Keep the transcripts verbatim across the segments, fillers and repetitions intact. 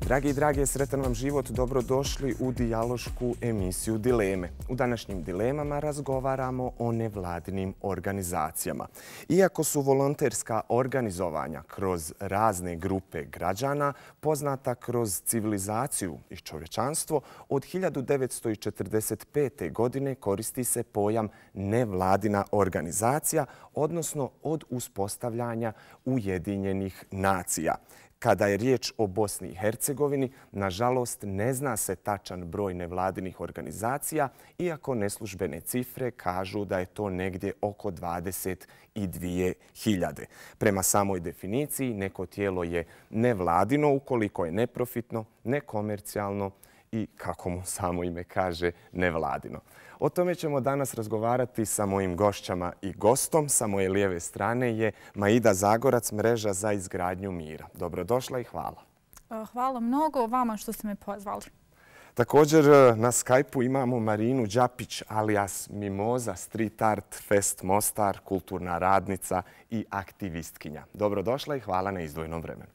Dragi i drage, sretan vam život, dobrodošli u dijalošku emisiju Dileme. U današnjim dilemama razgovaramo o nevladinim organizacijama. Iako su volonterska organizovanja kroz razne grupe građana poznata kroz civilizaciju i čovječanstvo, od hiljadu devetsto četrdeset pete. godine koristi se pojam nevladina organizacija, odnosno od uspostavljanja Ujedinjenih nacija. Kada je riječ o Bosni i Hercegovini, nažalost ne zna se tačan broj nevladinih organizacija, iako neslužbene cifre kažu da je to negdje oko dvadeset dvije hiljade. Prema samoj definiciji, neko tijelo je nevladino ukoliko je neprofitno, nekomercijalno i, kako mu samo ime kaže, nevladino. O tome ćemo danas razgovarati sa mojim gošćama i gostom. Sa moje lijeve strane je Maida Zagorac, Mreža za izgradnju mira. Dobrodošla i hvala. Hvala mnogo vama što ste me pozvali. Također na Skype-u imamo Marinu Đapić, alias Mimoza, Street Art Fest Mostar, kulturna radnica i aktivistkinja. Dobrodošla i hvala na izdvojenom vremenu.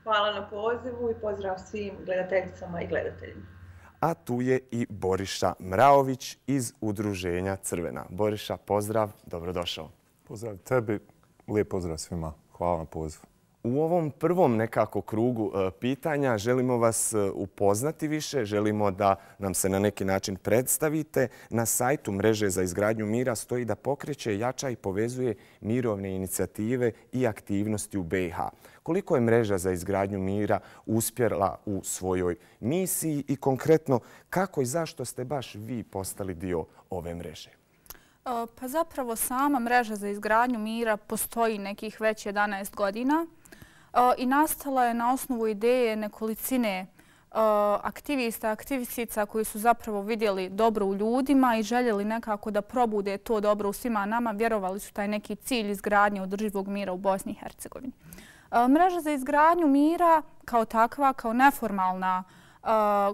Hvala na pozivu i pozdrav svim gledateljicama i gledateljima. A tu je i Boriša Mraović iz Udruženja Crvena. Boriša, pozdrav, dobrodošao. Pozdrav tebi, lijep pozdrav svima. Hvala na pozivu. U ovom prvom nekako krugu pitanja želimo vas upoznati više, želimo da nam se na neki način predstavite. Na sajtu Mreže za izgradnju mira stoji da pokreće, jača i povezuje mirovne inicijative i aktivnosti u be i ha. Koliko je Mreža za izgradnju mira uspjela u svojoj misiji i konkretno kako i zašto ste baš vi postali dio ove mreže? Pa zapravo sama Mreža za izgradnju mira postoji nekih već jedanaest godina i nastala je na osnovu ideje nekolicine aktivista, aktivistica koji su zapravo vidjeli dobro u ljudima i željeli nekako da probude to dobro u svima nama. Vjerovali su taj neki cilj izgradnje održivog mira u Bosni i Hercegovini. Mreža za izgradnju mira kao takva, kao neformalna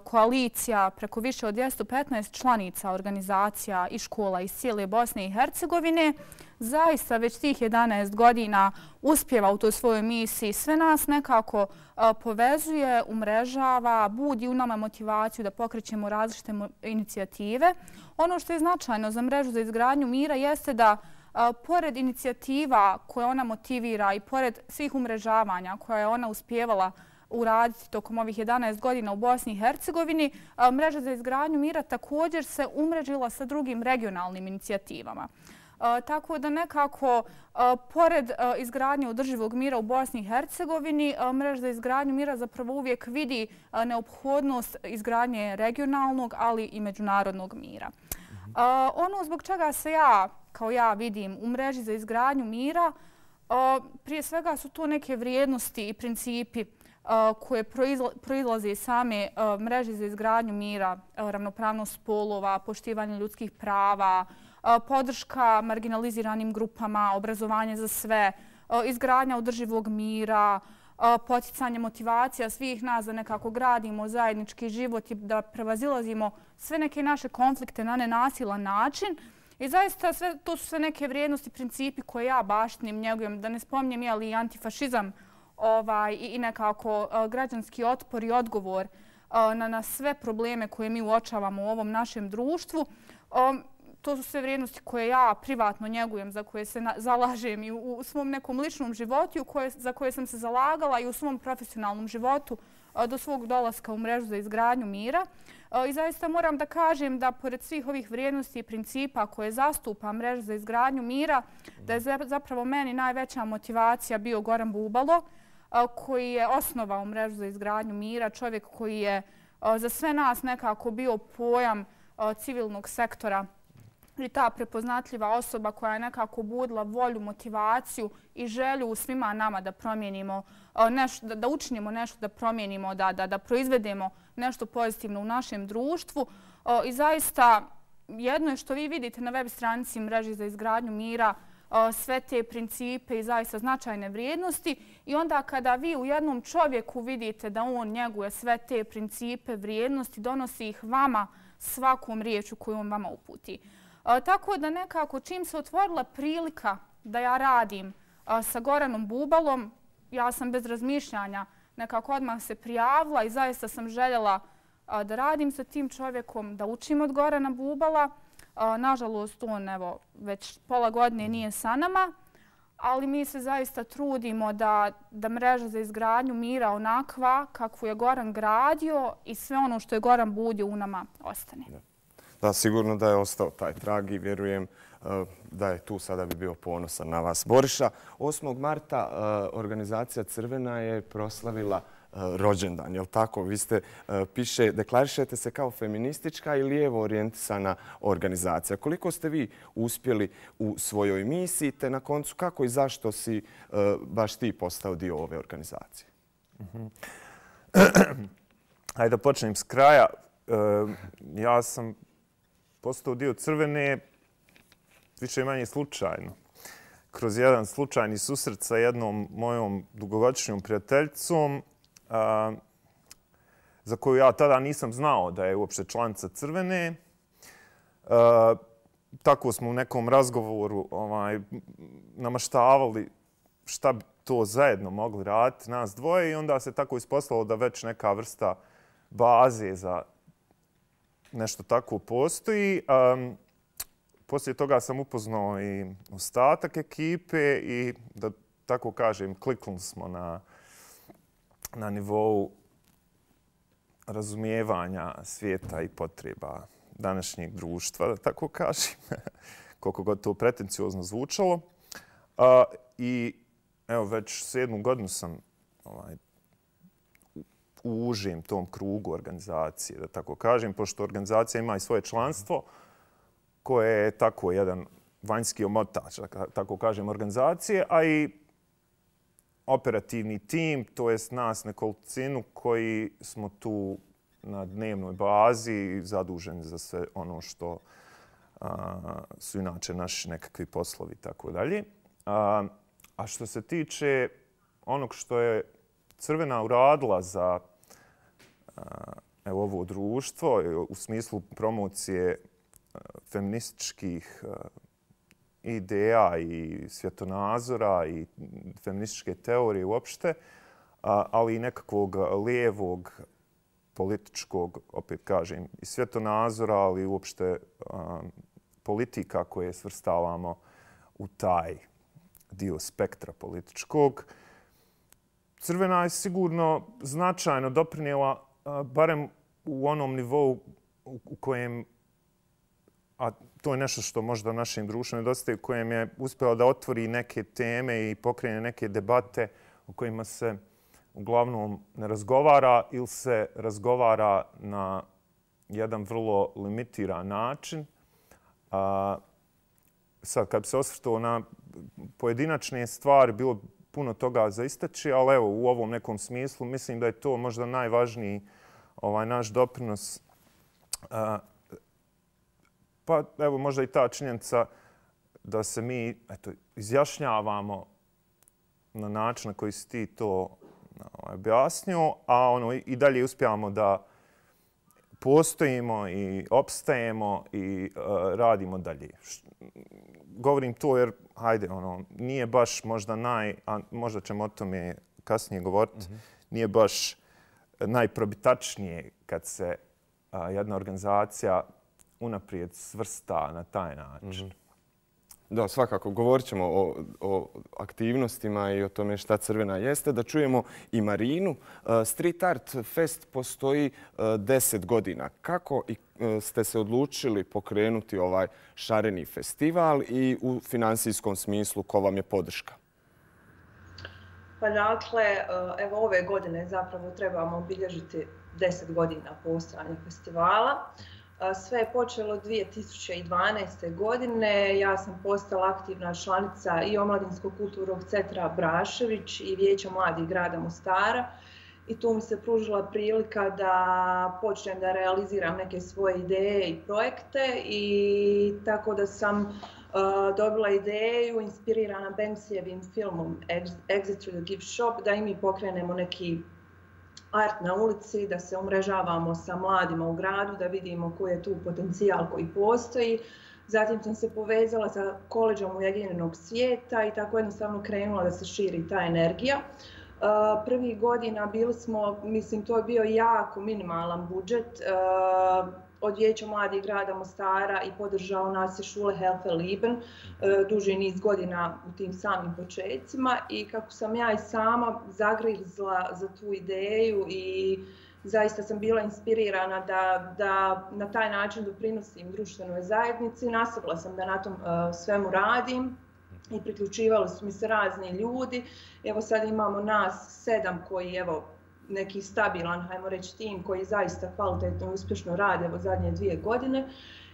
koalicija preko više od dvjesto petnaest članica organizacija i škola iz cijele Bosne i Hercegovine, zaista već tih jedanaest godina uspjeva u toj svojoj misiji. Sve nas nekako povezuje, umrežava, budi u nama motivaciju da pokrećemo različite inicijative. Ono što je značajno za Mrežu za izgradnju mira jeste da pored inicijativa koje ona motivira i pored svih umrežavanja koje je ona uspjevala uraditi tokom ovih jedanaest godina u Bosni i Hercegovini, Mreža za izgradnju mira također se umrežila sa drugim regionalnim inicijativama. Tako da nekako, pored izgradnje održivog mira u Bosni i Hercegovini, Mreža za izgradnju mira zapravo uvijek vidi neophodnost izgradnje regionalnog, ali i međunarodnog mira. Ono zbog čega se ja, kao ja vidim, u Mreži za izgradnju mira, prije svega su to neke vrijednosti i principi koje proizlaze iz same Mreže za izgradnju mira, ravnopravnost spolova, poštivanje ljudskih prava, podrška marginaliziranim grupama, obrazovanje za sve, izgradnja održivog mira, poticanje motivacija svih nas da nekako gradimo zajednički život i da prevazilazimo sve neke naše konflikte na nenasilan način. I zaista sve, to su sve neke vrijednosti, principi koje ja baštinim, njegujem, da ne spominjem je li antifašizam ovaj, i nekako građanski otpor i odgovor na, na sve probleme koje mi uočavamo u ovom našem društvu. To su sve vrijednosti koje ja privatno njegujem, za koje se na, zalažem i u, u svom nekom ličnom životu, koje, za koje sam se zalagala i u svom profesionalnom životu do svog dolaska u Mrežu za izgradnju mira. I zaista moram da kažem da pored svih ovih vrijednosti i principa koje zastupa Mreža za izgradnju mira, da je zapravo meni najveća motivacija bio Goran Bubalo, koji je osnovao Mrežu za izgradnju mira, čovjek koji je za sve nas nekako bio pojam civilnog sektora i ta prepoznatljiva osoba koja je nekako budila volju, motivaciju i želju u svima nama da promijenimo nešto, da, da učinimo nešto, da promijenimo, da, da, da proizvedemo nešto pozitivno u našem društvu. I zaista jedno je što vi vidite na web stranici Mreže za izgradnju mira, sve te principe i zaista značajne vrijednosti i onda kada vi u jednom čovjeku vidite da on njeguje sve te principe, vrijednosti, donosi ih vama svakom riječu koju on vama uputi. Tako da nekako čim se otvorila prilika da ja radim sa Goranom Bubalom, ja sam bez razmišljanja nekako odmah se prijavila i zaista sam željela da radim sa tim čovjekom, da učim od Gorana Bubala. Nažalost, on evo, već pola godine nije sa nama, ali mi se zaista trudimo da, da mreža za izgradnju mira onakva kakvu je Goran gradio i sve ono što je Goran budio u nama ostane. Da, da sigurno da je ostao taj trag i vjerujem da je tu sada bi bio ponosan na vas. Boriša, osmog marta organizacija Crvena je proslavila rođendan, je li tako? Vi ste, piše, deklarišete se kao feministička i lijevo orijentisana organizacija. Koliko ste vi uspjeli u svojoj misiji, te na koncu kako i zašto si baš ti postao dio ove organizacije? Hajde da počnem s kraja. Ja sam postao dio Crvene više i manje slučajno. Kroz jedan slučajni susret sa jednom mojom dugogodišnjom prijateljicom, Uh, za koju ja tada nisam znao da je uopšte članica Crvene. Uh, tako smo u nekom razgovoru ovaj, namaštavali šta bi to zajedno mogli raditi, nas dvoje, i onda se tako ispostavilo da već neka vrsta baze za nešto tako postoji. Um, poslije toga sam upoznao i ostatak ekipe i, da tako kažem, kliknuli smo na na nivou razumijevanja svijeta i potreba današnjeg društva, da tako kažem, koliko god to pretenciozno zvučalo. Uh, I evo, već sedmu godinu sam ovaj, u užem tom krugu organizacije, da tako kažem, pošto organizacija ima i svoje članstvo, koje je tako jedan vanjski omotač, da tako kažem, organizacije, a i operativni tim, to jest nas nekolicinu koji smo tu na dnevnoj bazi zaduženi za sve ono što a, su inače naši nekakvi poslovi i tako dalje. A što se tiče onog što je Crvena uradila za a, evo, ovo društvo u smislu promocije a, feminističkih a, ideja i svjetonazora i feminističke teorije uopšte, ali i nekakvog lijevog političkog, opet kažem, i svjetonazora, ali uopšte politika koje svrstavamo u taj dio spektra političkog. Crvena je sigurno značajno doprinijela, barem u onom nivou u kojem, a to je nešto što možda našem društvu nedostaje, u kojem je uspjela da otvori neke teme i pokrene neke debate o kojima se uglavnom ne razgovara ili se razgovara na jedan vrlo limitiran način. A, sad, kad bi se osvrtao na pojedinačne stvari, bilo puno toga za istaći, ali evo, u ovom nekom smislu mislim da je to možda najvažniji ovaj, naš doprinos. A, Pa evo možda i ta činjenica da se mi eto, izjašnjavamo na način na koji si ti to objasnio, a ono, i dalje uspijamo da postojimo i opstajemo i uh, radimo dalje. Govorim to jer, hajde, ono, nije baš možda naj, a možda ćemo o tome kasnije govoriti, mm-hmm. nije baš najprobitačnije kad se uh, jedna organizacija unaprijed svrsta na taj način. Mm-hmm. Da, svakako. Govorit ćemo o, o aktivnostima i o tome šta Crvena jeste. Da čujemo i Marinu. Street Art Fest postoji deset godina. Kako ste se odlučili pokrenuti ovaj šareni festival i u finansijskom smislu ko vam je podrška? Pa dakle, evo ove godine zapravo trebamo obilježiti deset godina postojanja festivala. Sve je počelo dvije tisuće dvanaeste. godine. Ja sam postala aktivna članica i Omladinskog kulturnog centra Brašević i Vijeća mladih grada Mostara. I tu mi se pružila prilika da počnem da realiziram neke svoje ideje i projekte. I tako da sam uh, dobila ideju, inspirirana Banksijevim filmom Exit through the Gift Shop, da i mi pokrenemo neki art na ulici, da se umrežavamo sa mladima u gradu, da vidimo koji je tu potencijal koji postoji. Zatim sam se povezala sa koleđom Ujedinjenog svijeta i tako jednostavno krenula da se širi ta energija. Prvih godina bili smo, mislim, to je bio jako minimalan budžet. Od Vijeća mladih grada Mostara i podržao nas je Schule Helfer Lieben duži niz godina u tim samim početcima i kako sam ja i sama zagrizla za tu ideju i zaista sam bila inspirirana da, da na taj način doprinosim društvenoj zajednici. Nastavila sam da na tom uh, svemu radim i priključivali su mi se razni ljudi. Evo sad imamo nas sedam koji, evo, neki stabilan, hajmo reći, tim koji zaista kvalitetno i uspješno rade evo zadnje dvije godine.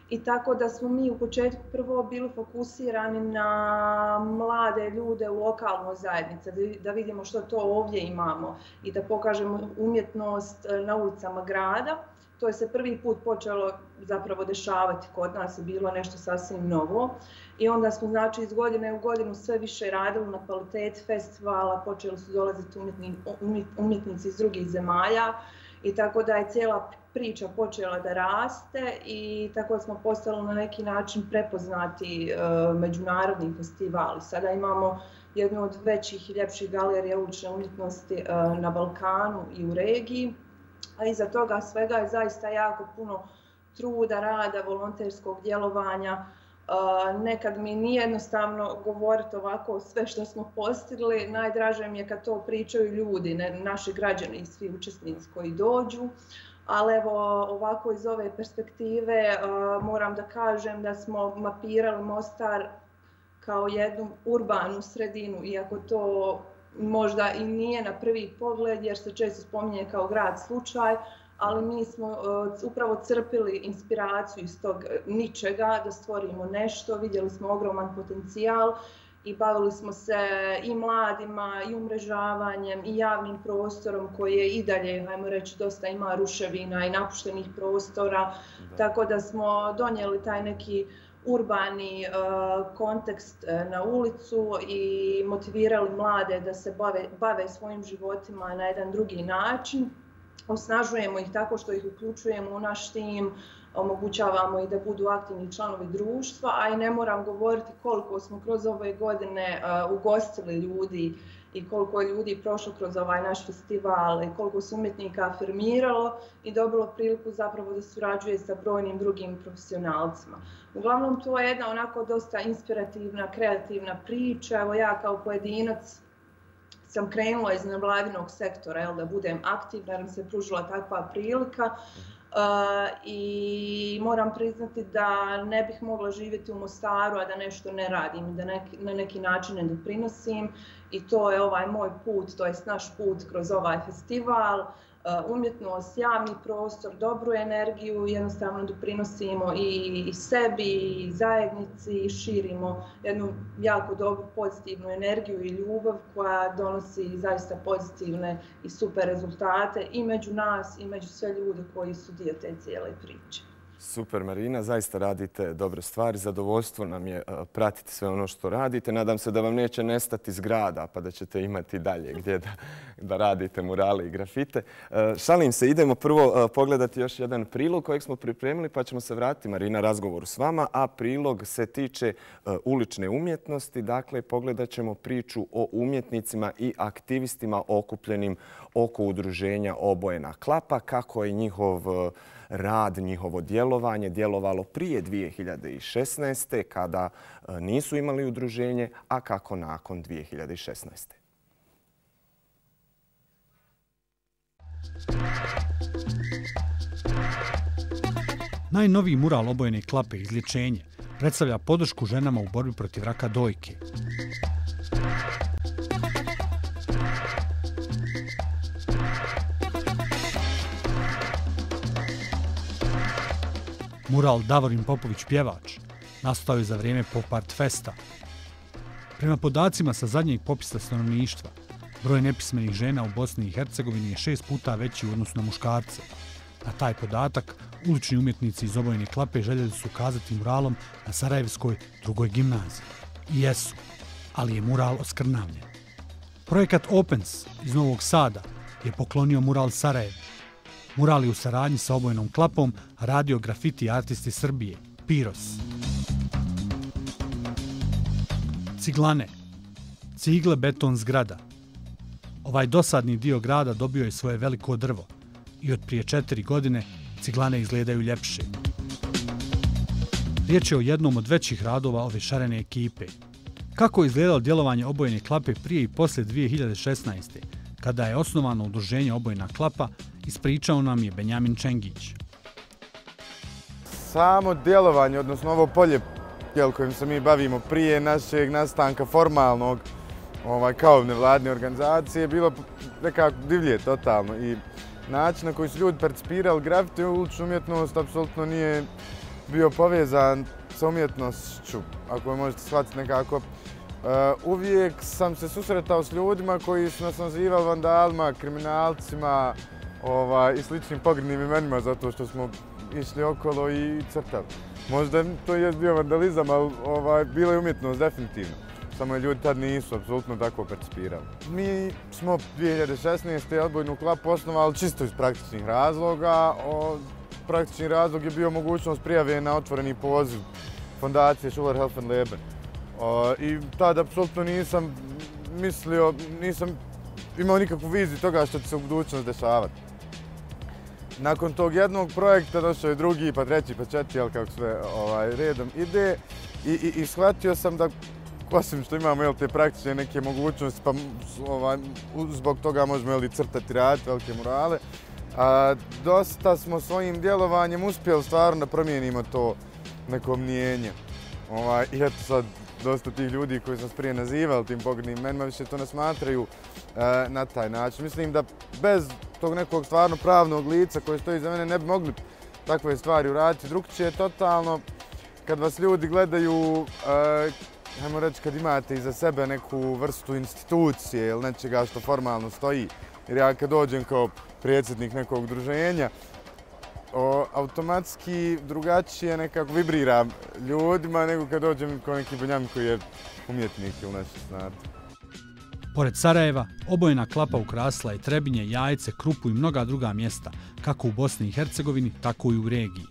I tako da smo mi u početku prvo bili fokusirani na mlade ljude u lokalnoj zajednici, da vidimo što to ovdje imamo i da pokažemo umjetnost na ulicama grada. To je se prvi put počelo zapravo dešavati kod nas, je bilo nešto sasvim novo. I onda smo, znači, iz godine u godinu sve više radili na kvaliteti festivala, počeli su dolaziti umjetni, umjetnici iz drugih zemalja i tako da je cijela priča počela da raste i tako smo postali na neki način prepoznati e, međunarodni festivali. Sada imamo jednu od većih i ljepših galerija ulične umjetnosti e, na Balkanu i u regiji, a iza toga svega je zaista jako puno truda, rada, volonterskog djelovanja. Uh, nekad mi nije jednostavno govoriti ovako sve što smo postigli, najdraže mi je kad to pričaju ljudi, ne, naši građani i svi učesnici koji dođu. Ali evo, ovako iz ove perspektive uh, moram da kažem da smo mapirali Mostar kao jednu urbanu sredinu, iako to možda i nije na prvi pogled jer se često spominje kao grad slučaj, ali mi smo uh, upravo crpili inspiraciju iz tog ničega da stvorimo nešto, vidjeli smo ogroman potencijal i bavili smo se i mladima, i umrežavanjem, i javnim prostorom koji je i dalje, hajmo reći, dosta ima ruševina i napuštenih prostora, da. Tako da smo donijeli taj neki urbani uh, kontekst uh, na ulicu i motivirali mlade da se bave, bave svojim životima na jedan drugi način. Osnažujemo ih tako što ih uključujemo u naš tim, omogućavamo i da budu aktivni članovi društva, a i ne moram govoriti koliko smo kroz ove godine uh, ugostili ljudi i koliko je ljudi prošlo kroz ovaj naš festival i koliko se umjetnika afirmiralo i dobilo priliku zapravo da surađuje sa brojnim drugim profesionalcima. Uglavnom, to je jedna onako dosta inspirativna, kreativna priča. Evo ja kao pojedinac sam krenula iz nevladinog sektora, jel, da budem aktivna jer mi se pružila takva prilika. Uh, I moram priznati da ne bih mogla živjeti u Mostaru, a da nešto ne radim i da neki, na neki način ne doprinosim. I to je ovaj moj put, to je naš put kroz ovaj festival. Uh, umjetnost, javni prostor, dobru energiju, jednostavno doprinosimo i, i sebi i zajednici i širimo jednu jako dobru pozitivnu energiju i ljubav koja donosi zaista pozitivne i super rezultate i među nas i među sve ljude koji su dio te cijele priče. Super, Marina, zaista radite dobre stvari. Zadovoljstvo nam je pratiti sve ono što radite. Nadam se da vam neće nestati zgrada, pa da ćete imati dalje gdje da, da radite murale i grafite. Šalim se, idemo prvo pogledati još jedan prilog kojeg smo pripremili, pa ćemo se vratiti, Marina, razgovoru s vama. A prilog se tiče ulične umjetnosti. Dakle, pogledat ćemo priču o umjetnicima i aktivistima okupljenim oko udruženja Obojena klapa, kako je njihov rad, njihovo djelovanje djelovalo prije dvije hiljade šesnaeste. kada nisu imali udruženje, a kako nakon dvije hiljade šesnaeste. Najnoviji mural Obojene klape Izlječenje predstavlja podršku ženama u borbi protiv raka dojke. Mural Davorin Popović pjevač nastao je za vrijeme Pop Art Festa. Prema podacima sa zadnjeg popisa stanovništva, broj nepismenih žena u Bosni i Hercegovini je šest puta veći u odnosu na muškarce. Na taj podatak ulični umjetnici iz Obojene klape željeli su ukazati muralom na Sarajevskoj drugoj gimnaziji. I jesu, ali je mural oskrnavljen. Projekat Opens iz Novog Sada je poklonio mural Sarajevu. Mural je u saradnji sa Obojenom klapom radio grafiti artisti Srbije, Piros. Ciglane, cigle, beton, zgrada. Ovaj dosadni dio grada dobio je svoje veliko drvo i od prije četiri godine ciglane izgledaju ljepše. Riječ je o jednom od većih radova ove šarene ekipe. Kako je izgledalo djelovanje Obojene klape prije i poslije dvije hiljade šesnaeste. kada je osnovano udruženje Obojena klapa, ispričao nam je Benjamin Čengić. Samo djelovanje, odnosno ovo polje kojim se mi bavimo prije našeg nastanka formalnog ovaj, kao nevladne organizacije je bilo nekako divlje totalno i način na koji su ljudi percipirali grafiti i uličnu umjetnost apsolutno nije bio povezan sa umjetnošću, ako je možete shvatiti nekako. Uh, uvijek sam se susretao s ljudima koji su nas nazivali vandalima, kriminalcima ovaj, i sličnim pogrdnim imenima zato što smo išli okolo i crtali. Možda to je bio vandalizam, ali ovaj, bila je umjetnost definitivno. Samo ljudi tad nisu apsolutno tako percipirali. Mi smo dvije hiljade šesnaeste. Obojnu klapu osnovali čisto iz praktičnih razloga. O, praktični razlog je bio mogućnost prijave na otvoreni poziv fondacije Schuler Helfen Leben. O, I tad apsolutno nisam mislio, nisam imao nikakvu viziju toga što će se u budućnosti dešavati. Nakon tog jednog projekta došao je drugi, pa treći, pa četiri, ali kako sve ovaj, redom ide. I, i, i shvatio sam da, osim što imamo jel, te praktične neke mogućnosti, pa ovaj, zbog toga možemo jel, crtati, raditi velike murale, a, dosta smo svojim djelovanjem uspjeli stvarno da promijenimo to neko mnijenje. Ovaj, I eto sad, dosta tih ljudi koji su nas prije nazivali tim pogrdnim imenima više to ne smatraju e, na taj način. Mislim da bez tog nekog stvarno pravnog lica koji stoji za mene ne bi mogli takve stvari uraditi. Drugčije je totalno kad vas ljudi gledaju, e, ajmo reći kad imate iza sebe neku vrstu institucije ili nečega što formalno stoji. Jer ja kad dođem kao predsjednik nekog udruženja, O, automatski drugačije nekako vibriram ljudima nego kad dođem kao neki Benjamin koji je umjetnik ili nešto znate. Pored Sarajeva, Obojena klapa ukrasila je Trebinje, Jajce, Krupu i mnoga druga mjesta, kako u Bosni i Hercegovini, tako i u regiji.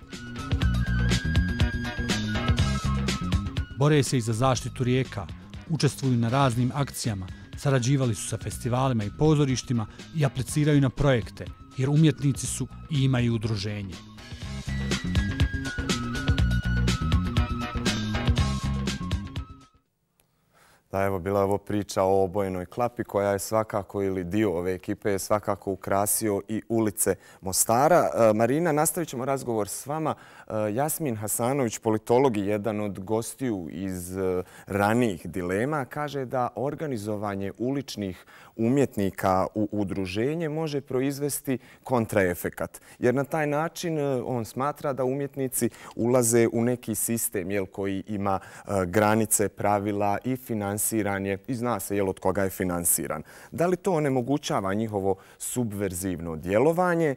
Bore se i za zaštitu rijeka, učestvuju na raznim akcijama, sarađivali su sa festivalima i pozorištima i apliciraju na projekte, jer umjetnici su i imaju udruženje. Da, evo, bila je ovo priča o Obojenoj klapi koja je svakako, ili dio ove ekipe je svakako ukrasio i ulice Mostara. Marina, nastavit ćemo razgovor s vama. Jasmin Hasanović, politolog i jedan od gostiju iz ranijih dilema, kaže da organizovanje uličnih umjetnika u udruženje može proizvesti kontraefekat. Jer na taj način on smatra da umjetnici ulaze u neki sistem jel, koji ima granice, pravila i finansiranje i zna se jel, od koga je finansiran. Da li to onemogućava njihovo subverzivno djelovanje,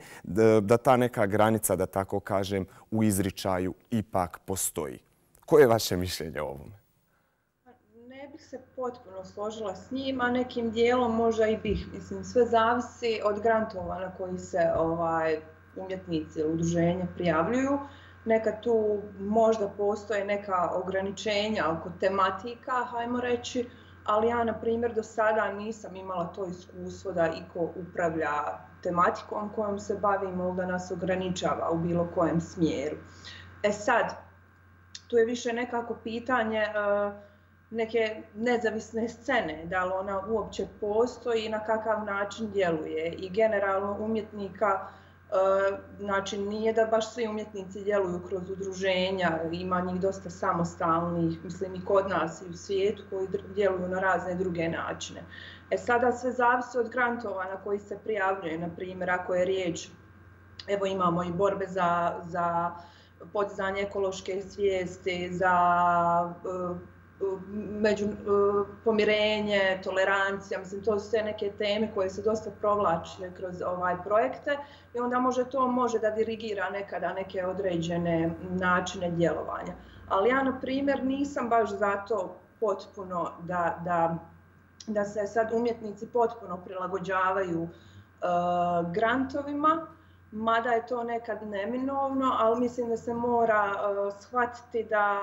da ta neka granica, da tako kažem, u izričaju ipak postoji? Koje je vaše mišljenje o ovome? Ne bih se potpuno složila s njim, a nekim dijelom možda i bih. Mislim, sve zavisi od grantova na koji se ovaj, umjetnici ili udruženja prijavljuju. Neka tu možda postoje neka ograničenja oko tematika, hajmo reći, ali ja, na primjer, do sada nisam imala to iskustvo da iko upravlja tematikom kojom se bavimo, da nas ograničava u bilo kojem smjeru. E sad, tu je više nekako pitanje uh, neke nezavisne scene, da li ona uopće postoji i na kakav način djeluje. I generalno umjetnika, uh, znači nije da baš svi umjetnici djeluju kroz udruženja, ima njih dosta samostalnih, mislim i kod nas i u svijetu koji djeluju na razne druge načine. E sada sve zavisi od grantova na koji se prijavljuje, na primjer ako je riječ, evo imamo i borbe za, za podizanje ekološke svijesti, za uh, među uh, pomirenje, tolerancija, mislim to su sve neke teme koje se dosta provlače kroz ovaj projekte i onda može to može da dirigira nekada neke određene načine djelovanja. Ali ja, na primjer, nisam baš zato potpuno da, da da se sad umjetnici potpuno prilagođavaju uh, grantovima, mada je to nekad neminovno, ali mislim da se mora uh, shvatiti da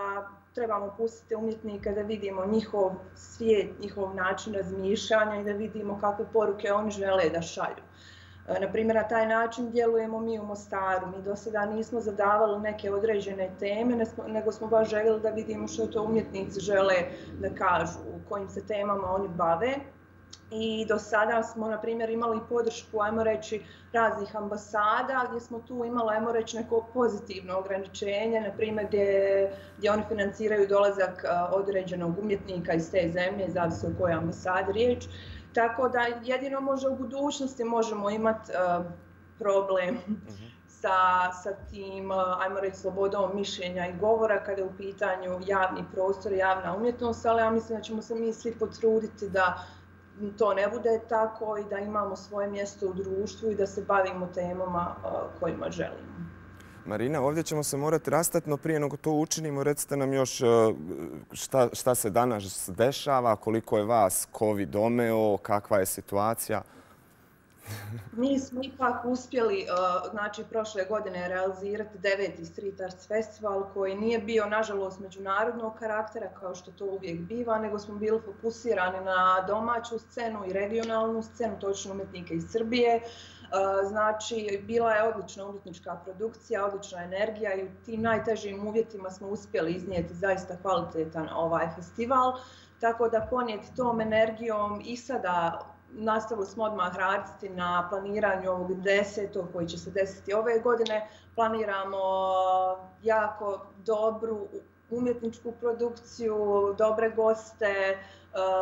trebamo pustiti umjetnika da vidimo njihov svijet, njihov način razmišljanja i da vidimo kakve poruke oni žele da šalju. Naprimjer, na taj način djelujemo mi u Mostaru. Mi do sada nismo zadavali neke određene teme, nego smo baš željeli da vidimo što to umjetnici žele da kažu, u kojim se temama oni bave. I do sada smo, na primjer, imali podršku, ajmo reći, raznih ambasada, gdje smo tu imali, ajmo reći, neko pozitivno ograničenje, na primjer, gdje, gdje oni financiraju dolazak određenog umjetnika iz te zemlje, zavisi o kojoj ambasadi riječ. Tako da jedino može u budućnosti možemo imati uh, problem sa, sa tim, uh, ajmo reći, slobodom mišljenja i govora kada je u pitanju javni prostor, javna umjetnost, ali ja mislim da ćemo se mi svi potruditi da to ne bude tako i da imamo svoje mjesto u društvu i da se bavimo temama uh, kojima želimo. Marina, ovdje ćemo se morati rastati, no prije nego to učinimo, recite nam još šta, šta se danas dešava, koliko je vas COVID domeo, kakva je situacija? Mi smo ipak uspjeli, znači, prošle godine realizirati deveti Street Arts Festival koji nije bio, nažalost, međunarodnog karaktera kao što to uvijek biva, nego smo bili fokusirani na domaću scenu i regionalnu scenu, točno umjetnike iz Srbije. Znači, bila je odlična umjetnička produkcija, odlična energija i u tim najtežim uvjetima smo uspjeli iznijeti zaista kvalitetan ovaj festival. Tako da ponijeti tom energijom i sada nastavili smo odmah raditi na planiranju ovog desetog koji će se desiti ove godine. Planiramo jako dobru umjetničku produkciju, dobre goste,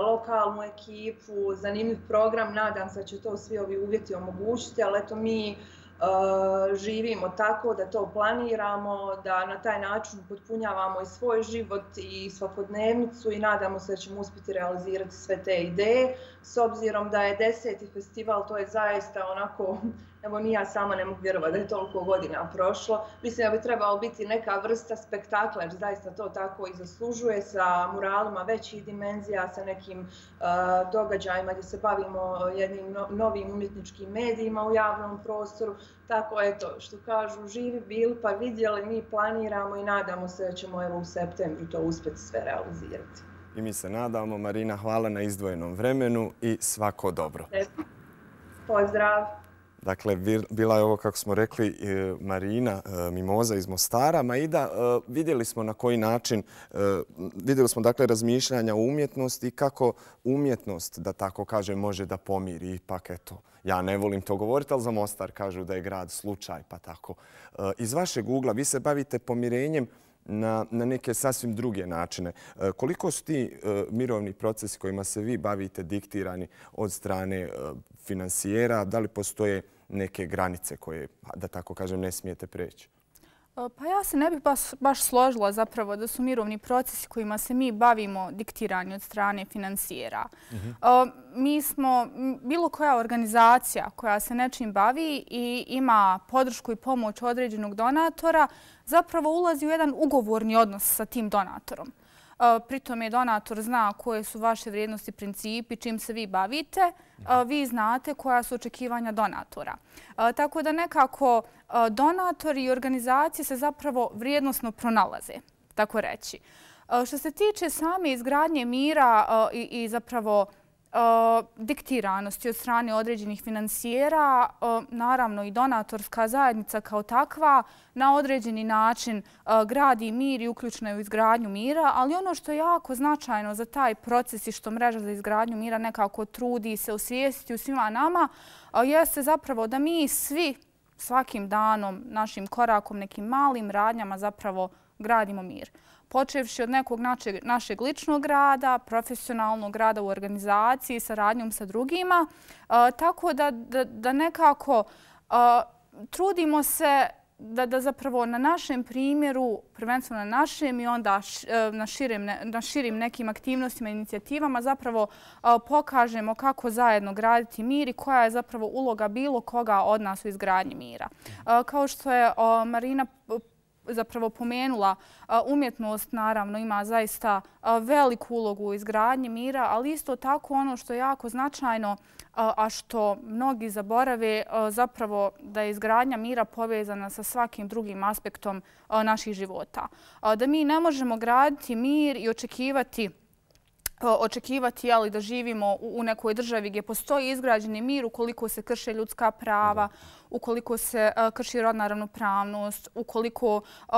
lokalnu ekipu, zanimljiv program. Nadam se da će to svi ovi uvjeti omogućiti, ali eto mi uh, živimo tako da to planiramo, da na taj način potpunjavamo i svoj život i svakodnevnicu i nadamo se da ćemo uspjeti realizirati sve te ideje. S obzirom da je deseti festival, to je zaista onako, evo ni ja sama ne mogu vjerovati da je toliko godina prošlo. Mislim da bi trebalo biti neka vrsta spektakla, jer zaista to tako i zaslužuje, sa muralima većih dimenzija, sa nekim uh, događajima gdje se bavimo jednim no, novim umjetničkim medijima u javnom prostoru. Tako eto, što kažu, živi bili pa vidjeli, mi planiramo i nadamo se da ćemo evo u septembru to uspjeti sve realizirati. I mi se nadamo. Marina, hvala na izdvojenom vremenu i svako dobro. Pozdrav! Dakle, bila je ovo, kako smo rekli, Marina Mimoza iz Mostara. Maida, vidjeli smo na koji način, vidjeli smo dakle razmišljanja o umjetnosti i kako umjetnost, da tako kažem, može da pomiri. Ipak, eto, ja ne volim to govoriti, ali za Mostar kažu da je grad slučaj, pa tako. Iz vašeg ugla vi se bavite pomirenjem na, na neke sasvim druge načine. Koliko su ti mirovni procesi kojima se vi bavite diktirani od strane finansijera? Da li postoje neke granice koje, da tako kažem, ne smijete preći? Pa ja se ne bih baš, baš složila zapravo da su mirovni procesi kojima se mi bavimo diktirani od strane finansijera. Mm-hmm. Mi smo, bilo koja organizacija koja se nečim bavi i ima podršku i pomoć određenog donatora, zapravo ulazi u jedan ugovorni odnos sa tim donatorom. Pritom je donator zna koje su vaše vrijednosti, principi, čim se vi bavite, vi znate koja su očekivanja donatora. Tako da nekako donatori i organizacije se zapravo vrijednosno pronalaze, tako reći. Što se tiče same izgradnje mira i, i zapravo diktiranosti od strane određenih finansijera, naravno i donatorska zajednica kao takva na određeni način gradi mir i uključena je u izgradnju mira, ali ono što je jako značajno za taj proces i što mreža za izgradnju mira nekako trudi se osvijestiti u svima nama, jeste zapravo da mi svi svakim danom, našim korakom, nekim malim radnjama zapravo gradimo mir. Počevši od nekog našeg, našeg ličnog rada, profesionalnog rada u organizaciji, saradnjom sa drugima, uh, tako da, da, da nekako uh, trudimo se da, da zapravo na našem primjeru, prvenstveno na našem i onda š, uh, na, širim, na širim nekim aktivnostima i inicijativama zapravo uh, pokažemo kako zajedno graditi mir i koja je zapravo uloga bilo koga od nas u izgradnji mira. Uh, kao što je uh, Marina zapravo pomenula, umjetnost naravno ima zaista veliku ulogu u izgradnji mira, ali isto tako ono što je jako značajno, a što mnogi zaborave zapravo da je izgradnja mira povezana sa svakim drugim aspektom naših života. Da mi ne možemo graditi mir i očekivati očekivati jeli, da živimo u nekoj državi gdje postoji izgrađeni mir ukoliko se krše ljudska prava, ukoliko se uh, krši rodna ravnopravnost, ukoliko, uh,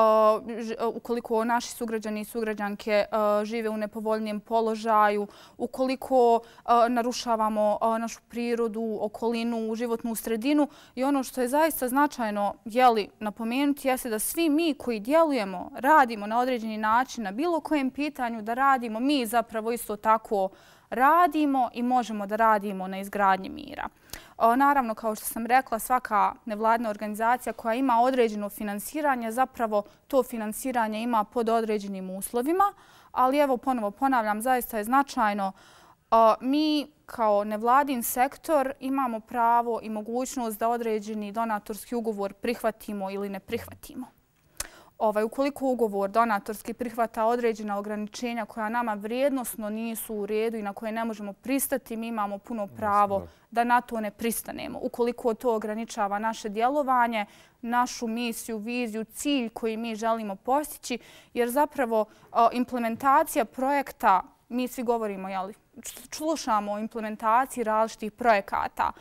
ukoliko naši sugrađani i sugrađanke uh, žive u nepovoljnijem položaju, ukoliko uh, narušavamo uh, našu prirodu, okolinu, životnu sredinu. I ono što je zaista značajno jeli, napomenuti jeste da svi mi koji djelujemo, radimo na određeni način na bilo kojem pitanju da radimo, mi zapravo isto tako radimo i možemo da radimo na izgradnji mira. Naravno, kao što sam rekla, svaka nevladna organizacija koja ima određeno finansiranje, zapravo to finansiranje ima pod određenim uslovima, ali evo ponovo ponavljam, zaista je značajno. Mi kao nevladin sektor imamo pravo i mogućnost da određeni donatorski ugovor prihvatimo ili ne prihvatimo. Ovaj, ukoliko ugovor donatorski prihvata određena ograničenja koja nama vrijednosno nisu u redu i na koje ne možemo pristati, mi imamo puno pravo da na to ne pristanemo. Ukoliko to ograničava naše djelovanje, našu misiju, viziju, cilj koji mi želimo postići, jer zapravo implementacija projekta, mi svi govorimo, jeli, slušamo o implementaciji različitih projekata.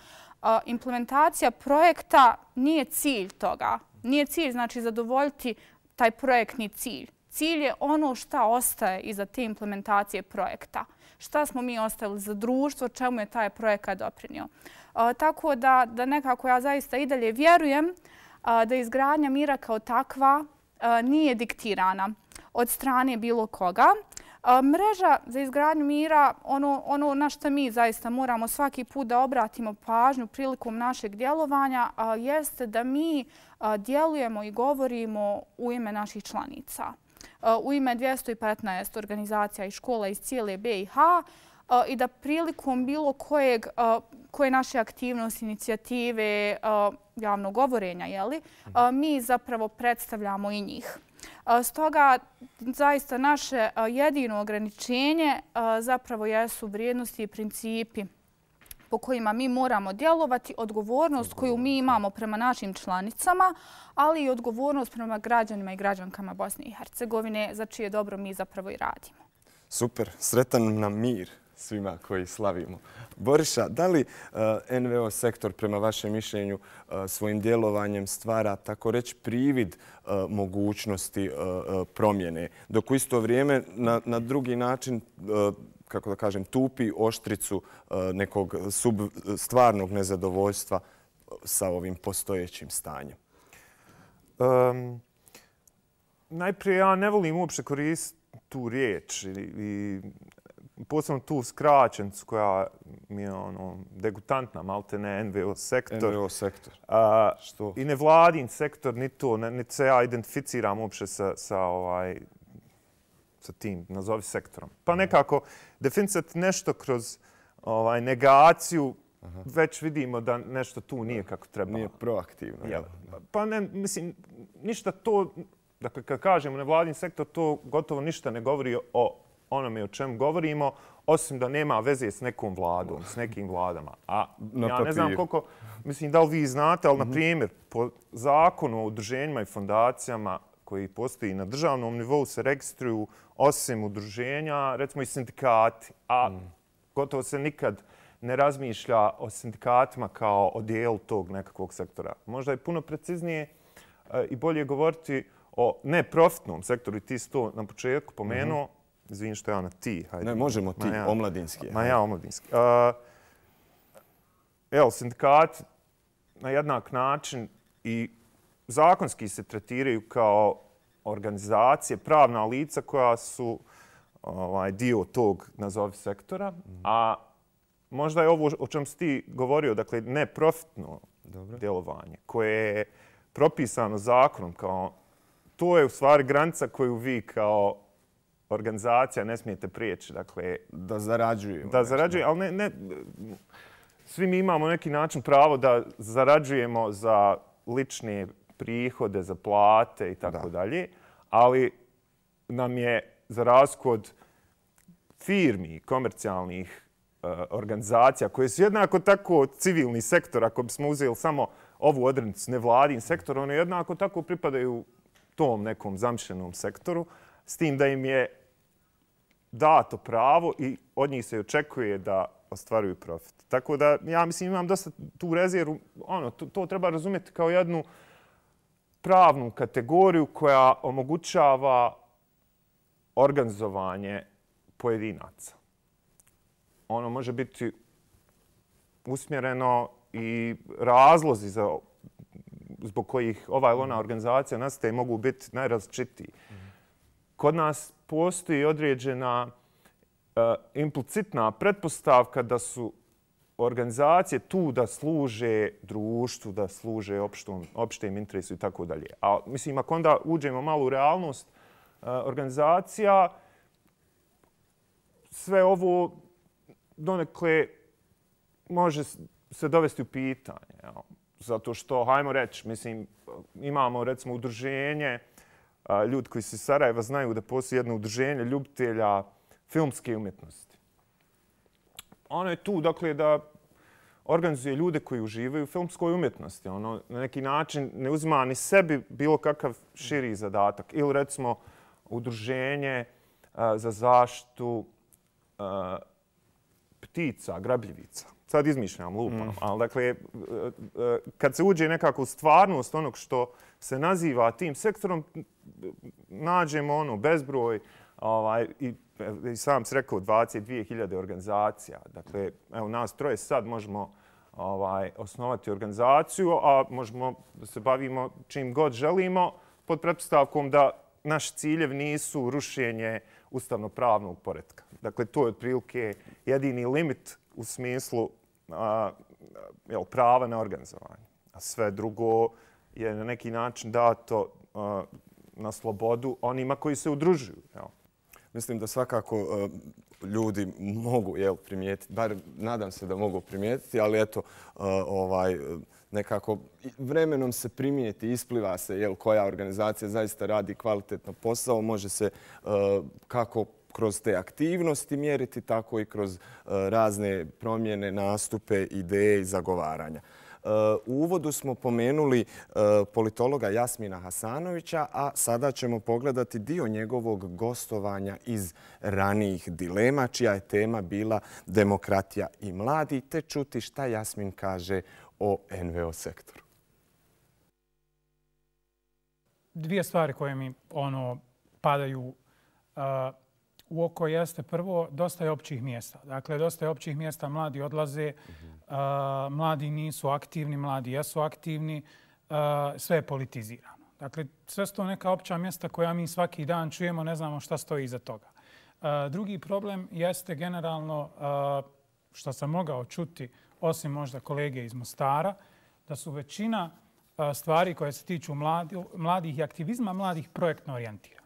Implementacija projekta nije cilj toga. Nije cilj, znači, zadovoljiti taj projektni cilj. Cilj je ono šta ostaje iza te implementacije projekta. Šta smo mi ostavili za društvo, čemu je taj projekat doprinio. Tako da, da nekako ja zaista i dalje vjerujem da izgradnja mira kao takva nije diktirana od strane bilo koga. Mreža za izgradnju mira, ono, ono na što mi zaista moramo svaki put da obratimo pažnju prilikom našeg djelovanja, jeste da mi djelujemo i govorimo u ime naših članica. U ime dvjesto petnaest organizacija i škola iz cijele B i H i da prilikom bilo kojeg, koje naše aktivnosti, inicijative, javnog govorenja, jeli, mi zapravo predstavljamo i njih. Stoga, zaista naše jedino ograničenje zapravo jesu vrijednosti i principi po kojima mi moramo djelovati, odgovornost koju mi imamo prema našim članicama, ali i odgovornost prema građanima i građankama Bosne i Hercegovine, za čije dobro mi zapravo i radimo. Super, sretan nam mir svima koji slavimo. Boriša, da li N V O sektor prema vašem mišljenju svojim djelovanjem stvara, tako reći, privid mogućnosti promjene, dok u isto vrijeme na, na drugi način, kako da kažem, tupi oštricu nekog sub, stvarnog nezadovoljstva sa ovim postojećim stanjem? Um, najprije, ja ne volim uopće koristiti tu riječ i, i posebno tu skraćenicu koja mi je ono, degutantna, malte ne N V O sektor. N V O sektor. A, Što? I nevladin sektor, ni to, niti se ja identificiram uopće sa, sa, ovaj, sa tim, nazovi sektorom. Pa nekako definicati nešto kroz ovaj, negaciju, aha, već vidimo da nešto tu nije kako treba. Nije proaktivno. Ja, pa ne, mislim, ništa to, dakle, kad kažemo nevladin sektor, to gotovo ništa ne govori o onome o čemu govorimo, osim da nema veze s nekom vladom, s nekim vladama. A na ja papir. ne znam koliko, mislim da li vi znate, ali, mm-hmm, na primjer, po zakonu o udruženjima i fondacijama koji postoji na državnom nivou se registruju osim udruženja, recimo i sindikati, a mm. gotovo se nikad ne razmišlja o sindikatima kao o dijelu tog nekakvog sektora. Možda je puno preciznije e, i bolje govoriti o neprofitnom sektoru, i ti si to na početku pomenuo, mm-hmm. Izvini što ja na ti. Hajde. Ne, možemo ti, ja, omladinski. Ma ja, omladinski. Uh, evo, sindikat na jednak način i zakonski se tretiraju kao organizacije, pravna lica koja su ovaj, dio tog, nazovi, sektora. Mm-hmm. A možda je ovo o čem si ti govorio, dakle, neprofitno Dobro. djelovanje koje je propisano zakonom kao, to je u stvari granica koju vi kao organizacija ne smijete prijeći, dakle, da zarađujemo. Da zarađujemo, ali ne, ne, svi mi imamo neki način pravo da zarađujemo za lične prihode, za plate i tako dalje, ali nam je za razliku od firmi, komercijalnih organizacija koje su jednako tako civilni sektor, ako bismo uzeli samo ovu odrednicu nevladin sektor, one jednako tako pripadaju tom nekom zamišljenom sektoru, s tim da im je dato pravo i od njih se očekuje da ostvaruju profit. Tako da ja mislim imam dosta tu rezervu, ono, to, to treba razumjeti kao jednu pravnu kategoriju koja omogućava organizovanje pojedinaca. Ono može biti usmjereno i razlozi za, zbog kojih ova ili ona organizacija nastaje mogu biti najrazličitiji. Kod nas postoji određena uh, implicitna pretpostavka da su organizacije tu da služe društvu, da služe opštom, opštem interesu i tako dalje. A mislim, ako onda uđemo malo u realnost uh, organizacija, sve ovo donekle može se dovesti u pitanje. Jel? Zato što, hajmo reći, mislim, imamo recimo udruženje, uh, ljudi koji se iz Sarajeva znaju da postoji jedno udruženje ljubitelja filmske umjetnosti. Ono je tu, dakle, da organizuje ljude koji uživaju u filmskoj umjetnosti. Ono na neki način ne uzima ni sebi bilo kakav širi zadatak. Ili recimo udruženje uh, za zaštitu uh, ptica, grabljivica. Sad izmišljam, lupam. Mm. Ali dakle, uh, uh, kad se uđe nekako u stvarnost onog što se naziva tim sektorom, nađemo ono bezbroj ovaj, i i sam si rekao dvadeset dvije hiljade organizacija. Dakle, evo nas troje sad možemo ovaj, osnovati organizaciju, a možemo da se bavimo čim god želimo pod pretpostavkom da naši ciljevi nisu rušenje ustavno-pravnog poretka. Dakle, to je otprilike jedini limit u smislu a, jel, prava na organizovanje. A sve drugo je na neki način dato a, na slobodu onima koji se udružuju. Jel. Mislim da svakako uh, ljudi mogu jel, primijetiti, bar nadam se da mogu primijetiti, ali eto, uh, ovaj, nekako vremenom se primijeti, ispliva se jel, koja organizacija zaista radi kvalitetno posao, može se uh, kako kroz te aktivnosti mjeriti, tako i kroz uh, razne promjene, nastupe, ideje i zagovaranja. U uvodu smo pomenuli politologa Jasmina Hasanovića, a sada ćemo pogledati dio njegovog gostovanja iz ranijih dilema, čija je tema bila demokratija i mladi, te čuti šta Jasmin kaže o en ve o sektoru. Dvije stvari koje mi ono padaju uh, u oko jeste prvo, dosta je općih mjesta. Dakle, dosta je općih mjesta, mladi odlaze, uh, mladi nisu aktivni, mladi jesu aktivni, uh, sve je politizirano. Dakle, sve su to neka opća mjesta koja mi svaki dan čujemo, ne znamo šta stoji iza toga. Uh, drugi problem jeste generalno, uh, što sam mogao čuti, osim možda kolege iz Mostara, da su većina uh, stvari koje se tiču mladi, mladih i aktivizma, mladih projektno orijentirani.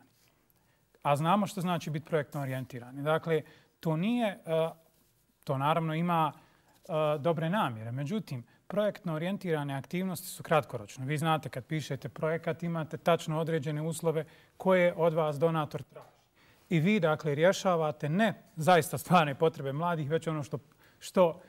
A znamo što znači biti projektno orijentirani. Dakle, to nije, to naravno ima dobre namjere. Međutim, projektno orijentirane aktivnosti su kratkoročne. Vi znate kad pišete projekat imate tačno određene uslove koje od vas donator traži. I vi, dakle, rješavate ne zaista stvarne potrebe mladih, već ono što, što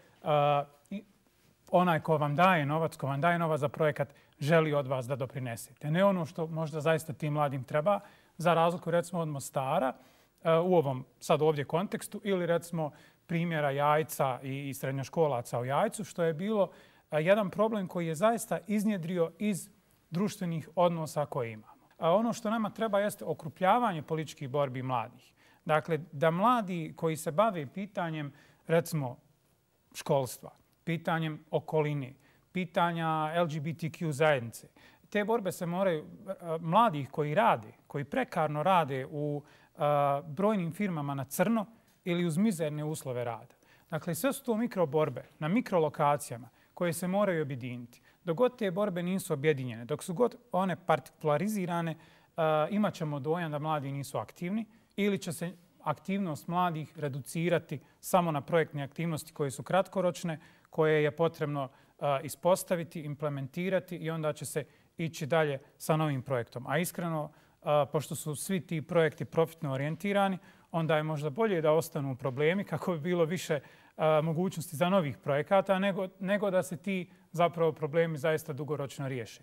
onaj ko vam daje novac, ko vam daje novac za projekat, želi od vas da doprinesete. Ne ono što možda zaista tim mladim treba, za razliku recimo od Mostara u ovom sad ovdje kontekstu ili recimo primjera Jajca i srednjoškolaca u Jajcu, što je bilo jedan problem koji je zaista iznjedrio iz društvenih odnosa koje imamo. Ono što nama treba jeste okrupljavanje političkih borbi mladih. Dakle, da mladi koji se bave pitanjem recimo školstva, pitanjem okoline, pitanja el ge be te kju zajednice, te borbe se moraju, mladih koji rade, koji prekarno rade u uh, brojnim firmama na crno ili uz mizerne uslove rada. Dakle, sve su to mikroborbe na mikrolokacijama koje se moraju objediniti. Dok god te borbe nisu objedinjene, dok su god one partikularizirane, uh, imat ćemo dojam da mladi nisu aktivni ili će se aktivnost mladih reducirati samo na projektne aktivnosti koje su kratkoročne, koje je potrebno uh, ispostaviti, implementirati i onda će se ići dalje sa novim projektom. A iskreno, pošto su svi ti projekti profitno orijentirani, onda je možda bolje da ostanu problemi kako bi bilo više mogućnosti za novih projekata, nego, nego da se ti zapravo problemi zaista dugoročno riješe.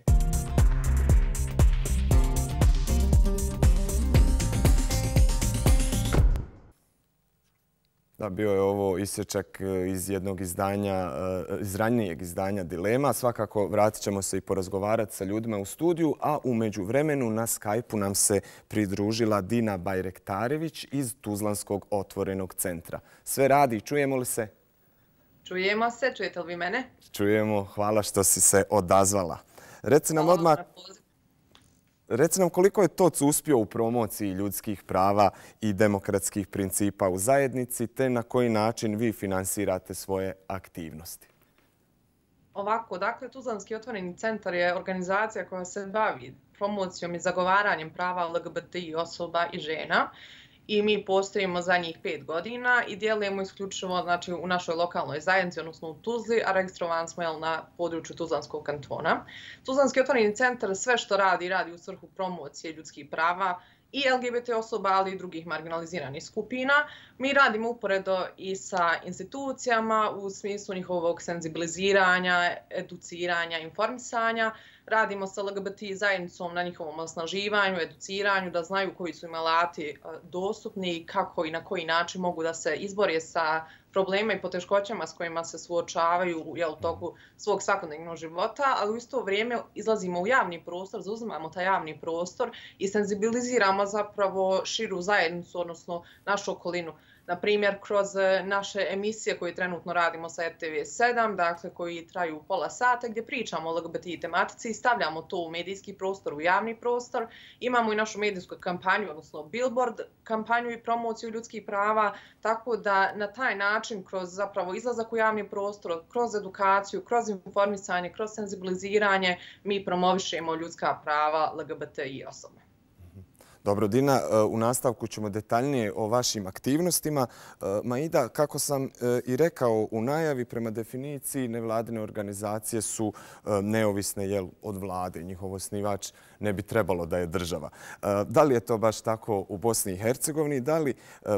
Da, bio je ovo isječak iz jednog izdanja, iz ranijeg izdanja Dilema. Svakako vratit ćemo se i porazgovarati sa ljudima u studiju, a u međuvremenu na Skype-u nam se pridružila Dina Bajrektarević iz Tuzlanskog otvorenog centra. Sve radi, čujemo li se? Čujemo se, čujete li vi mene? Čujemo, hvala što si se odazvala. Reci nam odmah... Reci nam koliko je T O C uspio u promociji ljudskih prava i demokratskih principa u zajednici, te na koji način vi finansirate svoje aktivnosti? Ovako, dakle, Tuzlanski otvoreni centar je organizacija koja se bavi promocijom i zagovaranjem prava L G B T I osoba i žena. I mi postojimo zadnjih pet godina i djelujemo isključivo znači, u našoj lokalnoj zajednici, odnosno u Tuzli, a registrovani smo jel, na području Tuzlanskog kantona. Tuzlanski otvoreni centar sve što radi, radi u svrhu promocije ljudskih prava i L G B T osoba, ali i drugih marginaliziranih skupina. Mi radimo uporedo i sa institucijama u smislu njihovog senzibiliziranja, educiranja, informisanja. Radimo sa L G B T zajednicom na njihovom osnaživanju, educiranju, da znaju koji su im alati dostupni i kako i na koji način mogu da se izbore sa problema i poteškoćama s kojima se suočavaju jel, u toku svog svakodnevnog života, ali u isto vrijeme izlazimo u javni prostor, zauzimamo taj javni prostor i senzibiliziramo zapravo širu zajednicu, odnosno našu okolinu. Na primjer, kroz naše emisije koje trenutno radimo sa R T V sedam, dakle koji traju pola sata, gdje pričamo o L G B T tematici i stavljamo to u medijski prostor, u javni prostor. Imamo i našu medijsku kampanju, odnosno billboard kampanju i promociju ljudskih prava, tako da na taj način, kroz zapravo izlazak u javni prostor, kroz edukaciju, kroz informisanje, kroz senzibiliziranje, mi promovišemo ljudska prava L G B T I osoba. Dobro, Dina, u nastavku ćemo detaljnije o vašim aktivnostima. Maida, kako sam i rekao u najavi, prema definiciji nevladine organizacije su neovisne jel, od vlade. Njihov osnivač ne bi trebalo da je država. Da li je to baš tako u Bosni i Hercegovini? Da li,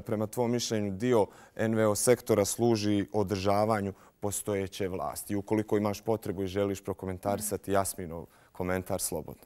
prema tvom mišljenju, dio N V O sektora služi održavanju postojeće vlasti? Ukoliko imaš potrebu i želiš prokomentarisati Jasminov komentar, slobodno.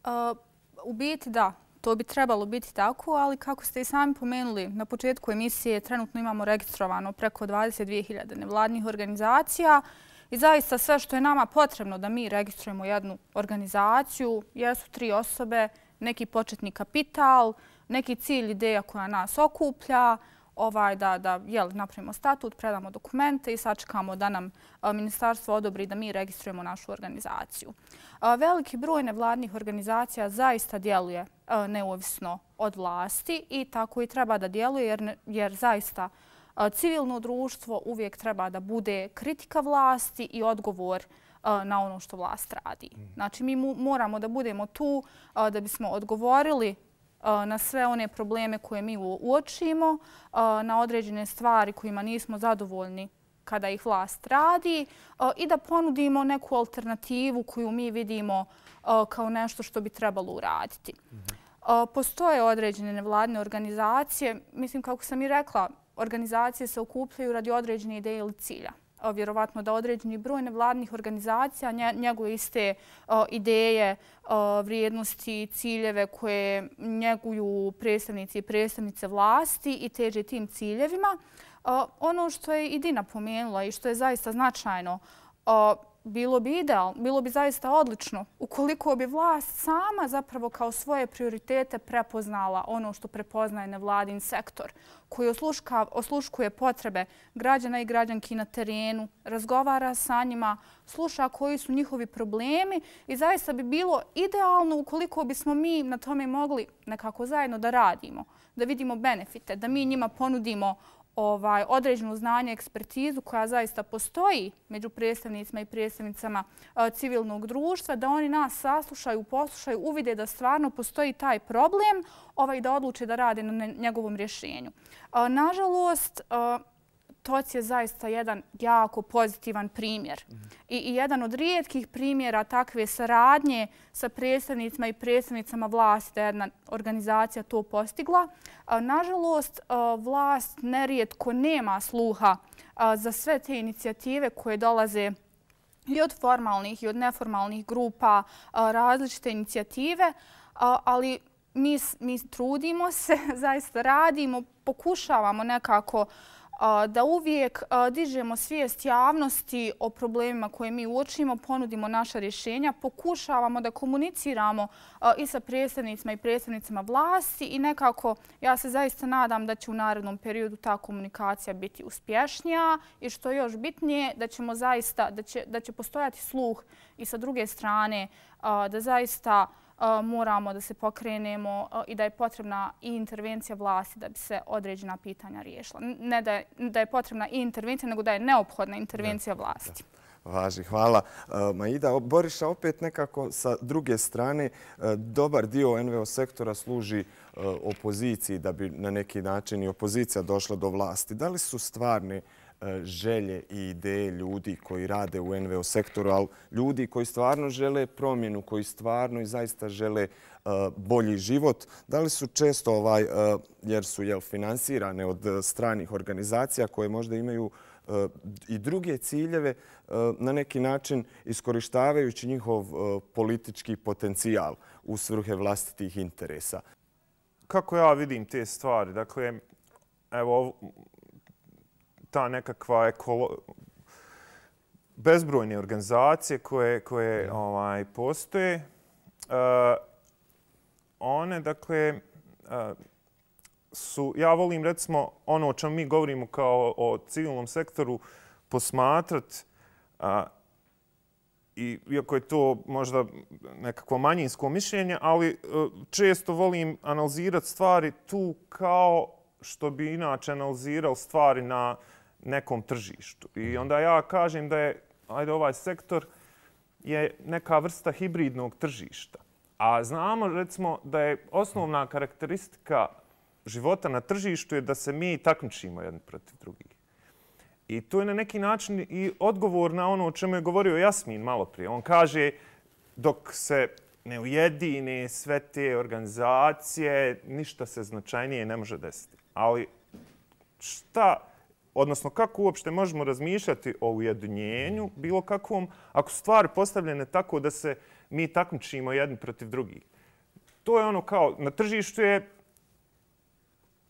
Uh, u biti da. To bi trebalo biti tako, ali kako ste i sami pomenuli, na početku emisije trenutno imamo registrovano preko dvadeset dvije hiljade nevladnih organizacija i zaista sve što je nama potrebno da mi registrujemo jednu organizaciju jesu tri osobe, neki početni kapital, neki cilj, ideja koja nas okuplja, ovaj, da, da jel, napravimo statut, predamo dokumente i sačekamo da nam a, ministarstvo odobri da mi registrujemo našu organizaciju. A, veliki broj nevladnih organizacija zaista djeluje a, neovisno od vlasti i tako i treba da djeluje jer, ne, jer zaista a, civilno društvo uvijek treba da bude kritika vlasti i odgovor a, na ono što vlast radi. Znači mi mu, moramo da budemo tu a, da bismo odgovorili na sve one probleme koje mi uočimo, na određene stvari kojima nismo zadovoljni kada ih vlast radi i da ponudimo neku alternativu koju mi vidimo kao nešto što bi trebalo uraditi. Postoje određene nevladine organizacije. Mislim, kako sam i rekla, organizacije se okupljaju radi određene ideje ili cilja. Vjerovatno da određeni broj nevladnih organizacija njeguje iste ideje, vrijednosti, ciljeve koje njeguju predstavnici i predstavnice vlasti i teže tim ciljevima. Ono što je i Dina pomenula i što je zaista značajno, bilo bi idealno, bilo bi zaista odlično ukoliko bi vlast sama zapravo kao svoje prioritete prepoznala ono što prepoznaje nevladin sektor, koji osluška, osluškuje potrebe građana i građanki na terenu, razgovara sa njima, sluša koji su njihovi problemi i zaista bi bilo idealno ukoliko bismo mi na tome mogli nekako zajedno da radimo, da vidimo benefite, da mi njima ponudimo Ovaj, određeno znanje, ekspertizu koja zaista postoji među predstavnicima i predstavnicama uh, civilnog društva, da oni nas saslušaju, poslušaju, uvide da stvarno postoji taj problem ovaj, da odluče da rade na njegovom rješenju. Uh, nažalost, uh, T O C je zaista jedan jako pozitivan primjer I, i jedan od rijetkih primjera takve saradnje sa predstavnicima i predstavnicama vlasti da je jedna organizacija to postigla. Nažalost, vlast nerijetko nema sluha za sve te inicijative koje dolaze i od formalnih i od neformalnih grupa, različite inicijative, ali mi, mi trudimo se, zaista radimo, pokušavamo nekako da uvijek dižemo svijest javnosti o problemima koje mi uočimo, ponudimo naša rješenja, pokušavamo da komuniciramo i sa predstavnicima i predstavnicama vlasti i nekako ja se zaista nadam da će u narednom periodu ta komunikacija biti uspješnija i što je još bitnije da ćemo zaista, da će, da će postojati sluh i sa druge strane da zaista moramo da se pokrenemo i da je potrebna i intervencija vlasti da bi se određena pitanja riješila. Ne da je, da je potrebna i intervencija, nego da je neophodna intervencija vlasti. Važi, hvala. Maida, Boriša, opet nekako sa druge strane, dobar dio en ve o sektora služi opoziciji da bi na neki način i opozicija došla do vlasti. Da li su stvarne želje i ideje ljudi koji rade u en ve o sektoru, ali ljudi koji stvarno žele promjenu, koji stvarno i zaista žele bolji život, da li su često, ovaj, jer su jel, finansirane od stranih organizacija koje možda imaju i druge ciljeve, na neki način iskorištavajući njihov politički potencijal u svrhe vlastitih interesa? Kako ja vidim te stvari? Dakle, evo, ta nekakva ekolo... bezbrojne organizacije koje, koje ovaj, postoje, uh, one, dakle, uh, su, ja volim, recimo, ono o čemu mi govorimo kao o civilnom sektoru, posmatrati, uh, i, iako je to možda nekakvo manjinsko mišljenje, ali uh, često volim analizirati stvari tu kao što bi inače analizirao stvari na nekom tržištu. I onda ja kažem da je, ajde, ovaj sektor je neka vrsta hibridnog tržišta. A znamo, recimo, da je osnovna karakteristika života na tržištu je da se mi takmičimo jedni protiv drugih. I to je na neki način i odgovor na ono o čemu je govorio Jasmin malo prije. On kaže, dok se ne ujedine sve te organizacije, ništa se značajnije ne može desiti. Ali šta, odnosno kako uopšte možemo razmišljati o ujedinjenju bilo kakvom, ako su stvari postavljene tako da se mi takmičimo jedni protiv drugih? To je ono kao, na tržištu je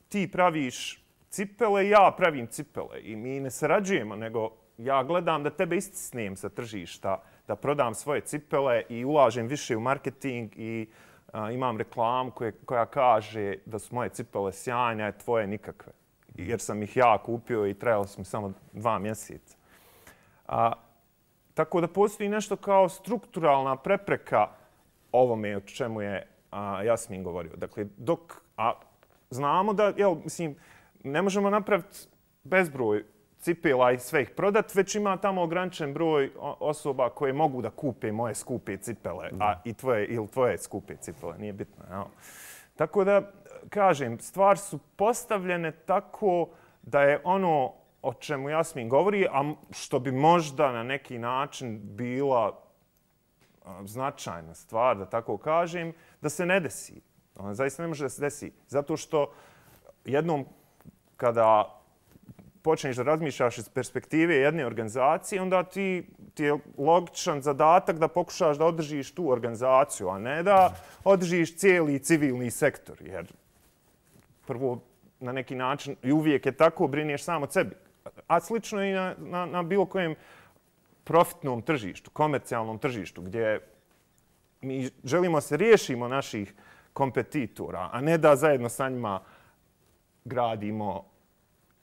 ti praviš cipele, ja pravim cipele i mi ne sarađujemo, nego ja gledam da tebe istisnem sa tržišta, da prodam svoje cipele i ulažem više u marketing i a, imam reklamu koje, koja kaže da su moje cipele sjajne, a tvoje nikakve. Jer sam ih ja kupio i trajalo su mi samo dva mjeseca. A, tako da postoji nešto kao strukturalna prepreka ovome o čemu je a, Jasmin govorio. Dakle, dok a, znamo da, jel, mislim, ne možemo napraviti bezbroj cipela i sve ih prodati, već ima tamo ograničen broj osoba koje mogu da kupe moje skupe cipele, a i tvoje, ili tvoje skupe cipele, nije bitno. Jel? Tako da, kažem, stvari su postavljene tako da je ono o čemu Jasmin govori, a što bi možda na neki način bila značajna stvar, da tako kažem, da se ne desi. Ona zaista ne može da se desi. Zato što jednom kada počneš da razmišljaš iz perspektive jedne organizacije, onda ti, ti je logičan zadatak da pokušaš da održiš tu organizaciju, a ne da održiš cijeli civilni sektor. Jer prvo, na neki način, i uvijek je tako, brineš samo od sebi. A slično i na, na, na bilo kojem profitnom tržištu, komercijalnom tržištu, gdje mi želimo se riješimo naših kompetitora, a ne da zajedno sa njima gradimo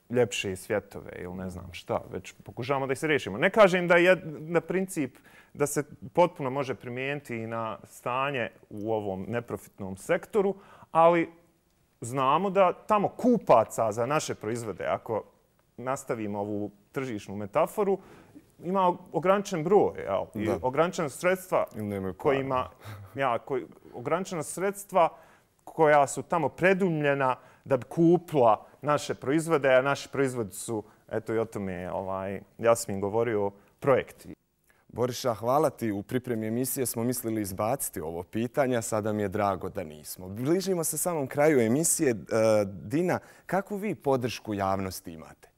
ljepše svjetove ili ne znam šta, već pokušavamo da ih se riješimo. Ne kažem da je na princip da se potpuno može primijeniti i na stanje u ovom neprofitnom sektoru, ali znamo da tamo kupaca za naše proizvode, ako nastavimo ovu tržišnu metaforu, ima ograničen broj, jel? I da. Ograničena sredstva kojima, ja, koji, ograničena sredstva koja su tamo predumljena da bi kupila naše proizvode, a naši proizvodi su, eto i o tome ovaj, Jasmin govorio, projekti. Boriša, hvala ti. U pripremi emisije smo mislili izbaciti ovo pitanje, sada mi je drago da nismo. Bližimo se samom kraju emisije. Dina, kakvu vi podršku javnosti imate?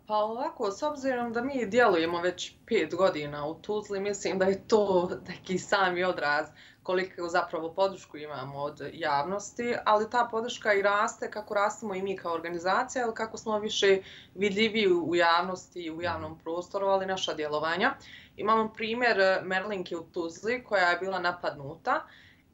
Pa ovako, s obzirom da mi djelujemo već pet godina u Tuzli, mislim da je to neki sami odraz koliko zapravo podršku imamo od javnosti, ali ta podrška i raste kako rastemo i mi kao organizacija, ali kako smo više vidljivi u javnosti i u javnom prostoru, ali naša djelovanja. Imamo primjer Merlinke u Tuzli koja je bila napadnuta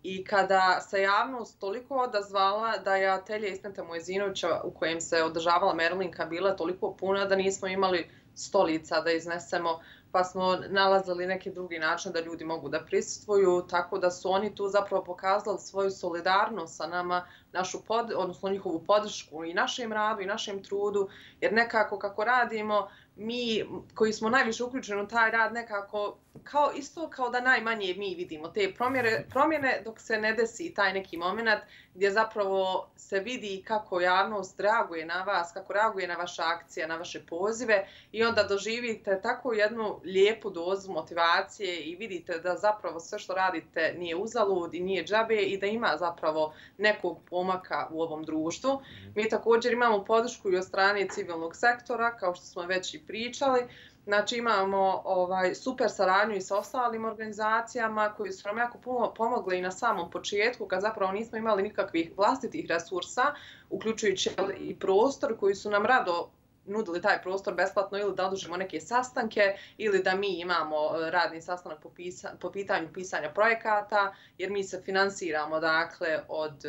i kada se javnost toliko odazvala da je atelje Ismeta Mojezinovića u kojem se održavala Merlinka bila toliko puna da nismo imali stolica da iznesemo, pa smo nalazili neki drugi način da ljudi mogu da prisustvuju, tako da su oni tu zapravo pokazali svoju solidarnost sa nama, našu pod, odnosno njihovu podršku i našem radu i našem trudu, jer nekako kako radimo, mi koji smo najviše uključeni u taj rad nekako kao isto kao da najmanje mi vidimo te promjene, promjene dok se ne desi taj neki moment gdje zapravo se vidi kako javnost reaguje na vas, kako reaguje na vaše akcije, na vaše pozive i onda doživite tako jednu lijepu dozu motivacije i vidite da zapravo sve što radite nije uzalud i nije džabe i da ima zapravo nekog pomaka u ovom društvu. Mi također imamo podršku i od strane civilnog sektora, kao što smo već i pričali. Znači imamo ovaj, super saradnju i sa ostalim organizacijama koji su nam jako puno pomogli i na samom početku kad zapravo nismo imali nikakvih vlastitih resursa, uključujući i prostor koji su nam rado nudili taj prostor besplatno ili da održimo neke sastanke ili da mi imamo radni sastanak po, pisa, po pitanju pisanja projekata jer mi se finansiramo dakle od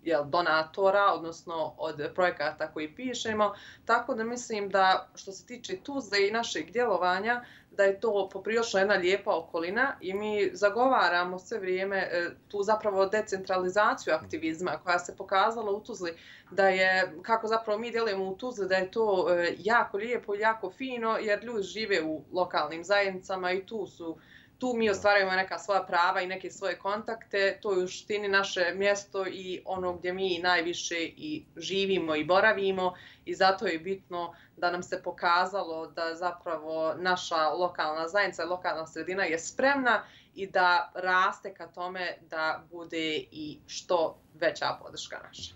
jel, donatora, odnosno od projekata koji pišemo. Tako da mislim da što se tiče Tuzle i našeg djelovanja, da je to poprilično jedna lijepa okolina i mi zagovaramo sve vrijeme tu zapravo decentralizaciju aktivizma koja se pokazala u Tuzli, da je, kako zapravo mi djelujemo u Tuzli, da je to jako lijepo i jako fino jer ljudi žive u lokalnim zajednicama i tu su Tu mi ostvarujemo neka svoja prava i neke svoje kontakte, to je u suštini naše mjesto i ono gdje mi najviše i živimo i boravimo i zato je bitno da nam se pokazalo da zapravo naša lokalna zajednica, lokalna sredina je spremna i da raste ka tome da bude i što veća podrška naša.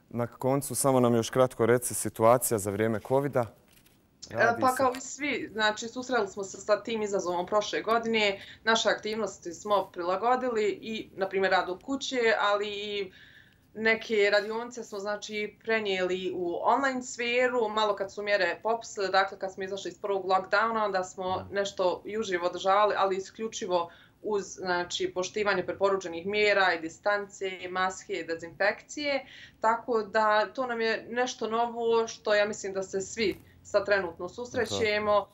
Na koncu samo nam još kratko reci situacija za vrijeme kovida. Radi pa kao i svi, znači susreli smo se sa tim izazovom prošle godine, naše aktivnosti smo prilagodili i, na primjer, rad u kući, ali i neke radionice smo znači prenijeli u online sferu, malo kad su mjere popustile, dakle kad smo izašli iz prvog lockdowna, onda smo nešto i uživo održavali, ali isključivo uz znači, poštivanje preporučenih mjera i distance, maske i dezinfekcije, tako da to nam je nešto novo što ja mislim da se svi sad trenutno susrećemo.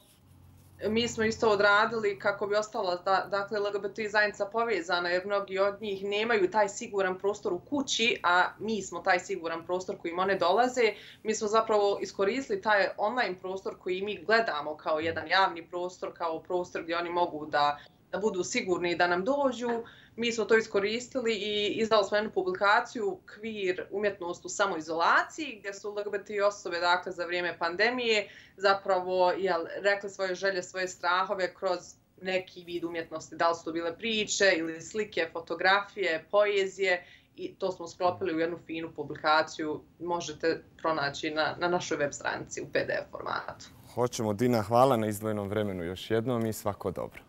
Mi smo isto odradili kako bi ostala da, dakle, L G B T zajednica povezana jer mnogi od njih nemaju taj siguran prostor u kući, a mi smo taj siguran prostor kojim one dolaze. Mi smo zapravo iskoristili taj online prostor koji mi gledamo kao jedan javni prostor, kao prostor gdje oni mogu da, da budu sigurni i da nam dođu. Mi smo to iskoristili i izdali smo jednu publikaciju Queer umjetnost u samoizolaciji gdje su L G B T osobe dakle, za vrijeme pandemije zapravo jel, rekli svoje želje, svoje strahove kroz neki vid umjetnosti. Da li su to bile priče ili slike, fotografije, poezije i to smo sklopili u jednu finu publikaciju. Možete pronaći na, na našoj web stranici u P D F formatu. Hoćemo, Dina, hvala na izdvojenom vremenu još jednom i svako dobro.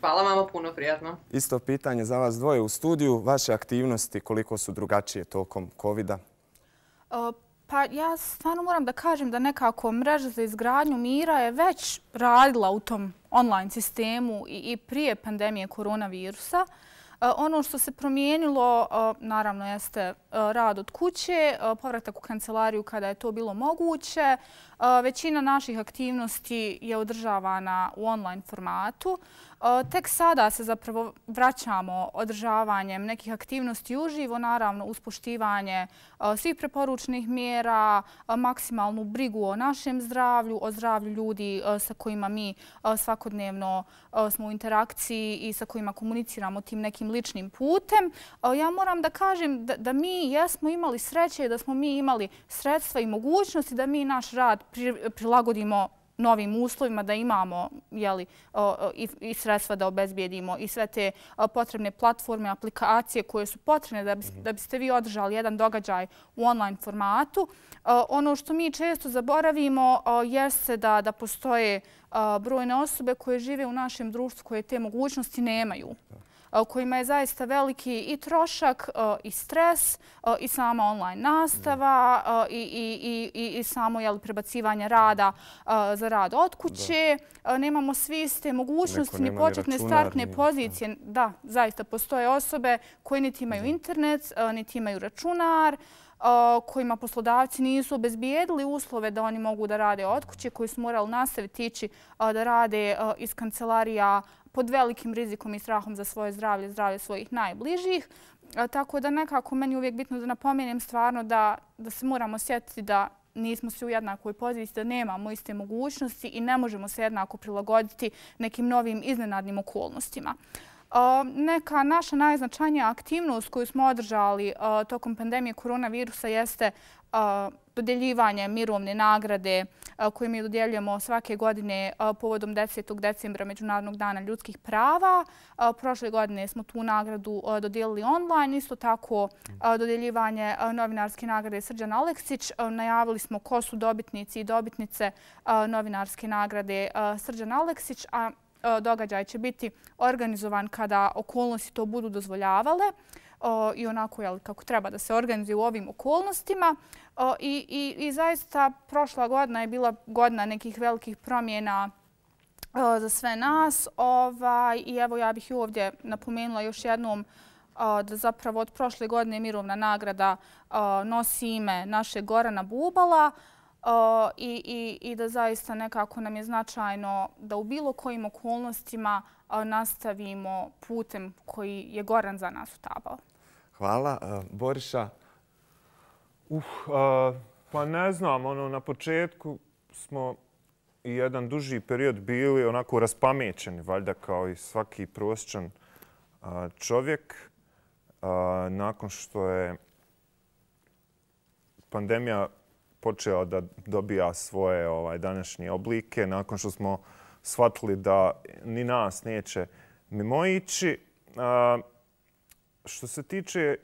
Hvala vama, puno prijatno. Isto pitanje za vas dvoje u studiju. Vaše aktivnosti koliko su drugačije tokom kovida? Pa ja stvarno moram da kažem da nekako mreža za izgradnju mira je već radila u tom online sistemu i prije pandemije koronavirusa. Ono što se promijenilo, naravno, jeste rad od kuće, povratak u kancelariju kada je to bilo moguće. Većina naših aktivnosti je održavana u online formatu. Tek sada se zapravo vraćamo održavanjem nekih aktivnosti uživo, naravno uz poštivanje svih preporučenih mjera, maksimalnu brigu o našem zdravlju, o zdravlju ljudi sa kojima mi svakodnevno smo u interakciji i sa kojima komuniciramo tim nekim ličnim putem. Ja moram da kažem da, da mi jesmo imali sreće, da smo mi imali sredstva i mogućnosti da mi naš rad prilagodimo novim uslovima, da imamo jeli, i, i sredstva da obezbijedimo i sve te potrebne platforme, aplikacije koje su potrebne da, bi, da biste vi održali jedan događaj u online formatu. Ono što mi često zaboravimo jeste da, da postoje brojne osobe koje žive u našem društvu koje te mogućnosti nemaju, kojima je zaista veliki i trošak i stres i sama online nastava i, i, i, i samo jel, prebacivanje rada za rad od kuće. Da. Nemamo svi iste mogućnosti ni početne startne ni pozicije. Da, zaista postoje osobe koje niti imaju internet, niti imaju računar, kojima poslodavci nisu obezbijedili uslove da oni mogu da rade od kuće, koji su morali nastaviti ići da rade iz kancelarija pod velikim rizikom i strahom za svoje zdravlje, zdravlje svojih najbližih. Tako da nekako meni je uvijek bitno da napomenem stvarno da, da se moramo sjetiti da nismo svi u jednakoj poziciji, da nemamo iste mogućnosti i ne možemo se jednako prilagoditi nekim novim iznenadnim okolnostima. Neka naša najznačajnija aktivnost koju smo održali tokom pandemije koronavirusa jeste dodjeljivanje mirovne nagrade koje mi dodjeljujemo svake godine povodom desetog decembra Međunarodnog dana ljudskih prava. Prošle godine smo tu nagradu dodijelili online. Isto tako dodjeljivanje novinarske nagrade Srđan Aleksić. Najavili smo ko su dobitnici i dobitnice novinarske nagrade Srđan Aleksić, a događaj će biti organizovan kada okolnosti to budu dozvoljavale i onako jel, kako treba da se organizuje u ovim okolnostima. I, i, i zaista prošla godina je bila godina nekih velikih promjena za sve nas. Ovaj, I evo ja bih i ovdje napomenula još jednom da zapravo od prošle godine mirovna nagrada nosi ime našeg Gorana Bubala. Uh, i, i, i da zaista nekako nam je značajno da u bilo kojim okolnostima uh, nastavimo putem koji je Goran za nas utabao. Hvala. Uh, Boriša? Uh, uh, pa ne znam, ono, na početku smo i jedan duži period bili onako raspamećeni, valjda kao i svaki prosječan uh, čovjek. Uh, nakon što je pandemija počeo da dobija svoje ovaj, današnje oblike, nakon što smo shvatili da ni nas neće mimoići. A, što se tiče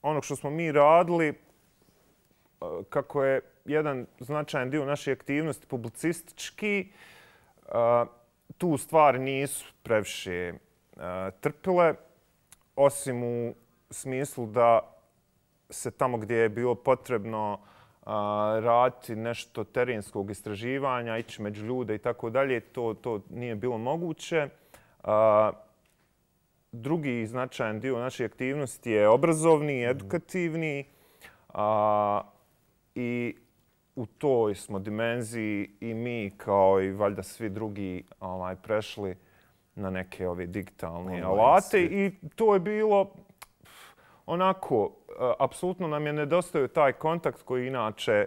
onog što smo mi radili, a, kako je jedan značajan dio naše aktivnosti publicistički, a, tu stvari nisu previše a, trpile, osim u smislu da se tamo gdje je bilo potrebno raditi nešto terenskog istraživanja, ići među ljude i tako dalje, to, to nije bilo moguće. Drugi značajan dio naše aktivnosti je obrazovni, edukativni i u toj smo dimenziji i mi kao i valjda svi drugi ovaj, prešli na neke ove digitalne alate i to je bilo onako, apsolutno nam je nedostao taj kontakt koji inače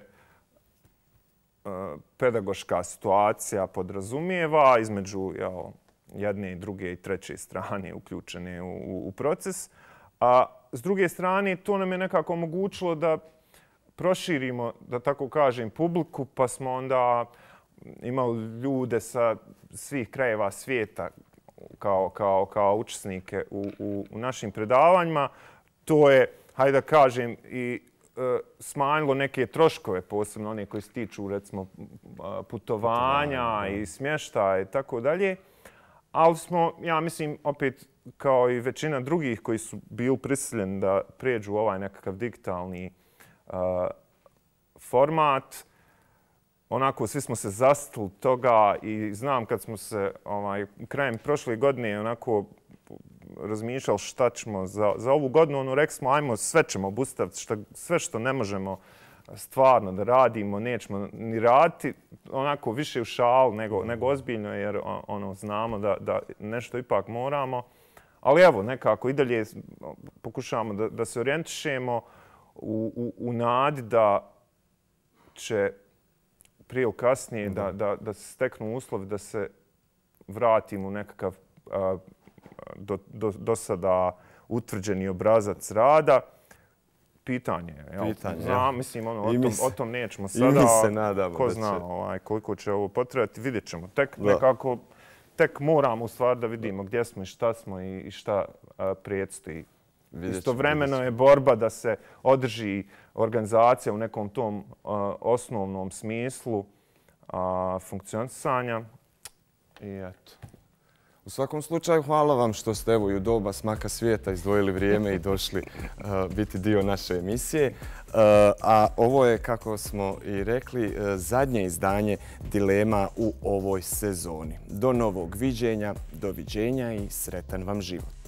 pedagoška situacija podrazumijeva između jel, jedne i druge i treće strane uključene u, u proces. A s druge strane, to nam je nekako omogućilo da proširimo, da tako kažem, publiku, pa smo onda imali ljude sa svih krajeva svijeta kao, kao, kao učesnike u, u, u našim predavanjima. To je, hajde da kažem, i e, smanjilo neke troškove, posebno one koji se tiču, recimo, putovanja i smještaja i tako dalje. Ali smo, ja mislim, opet, kao i većina drugih koji su bili prisiljeni da prijeđu ovaj nekakav digitalni uh, format, onako, svi smo se zastili toga i znam kad smo se ovaj, krajem prošle godine onako razmišljali šta ćemo za, za ovu godinu, ono, rekli smo ajmo sve ćemo obustaviti, šta, sve što ne možemo stvarno da radimo, nećemo ni raditi, onako više u šalu nego, nego ozbiljno jer ono, znamo da, da nešto ipak moramo. Ali evo, nekako i dalje pokušavamo da, da se orijentišemo u, u, u nadi da će prije ili kasnije da, da, da se steknu uslovi da se vratimo u nekakav a, do, do, do sada utvrđeni obrazac rada. pitanje. Pitanje, Znam, mislim, ono, o, tom, o tom nećemo sada. I mi se nadamo ko da će. zna ovaj, koliko će ovo potrebati, vidjet ćemo. Tek da. nekako, tek moramo u stvari da vidimo gdje smo i šta smo i, i šta a, predstoji. Istovremeno je borba da se održi organizacija u nekom tom a, osnovnom smislu a, funkcionisanja. I eto. U svakom slučaju, hvala vam što ste evo i u doba smaka svijeta izdvojili vrijeme i došli uh, biti dio naše emisije. Uh, a ovo je, kako smo i rekli, uh, zadnje izdanje Dilema u ovoj sezoni. Do novog viđenja, doviđenja i sretan vam život.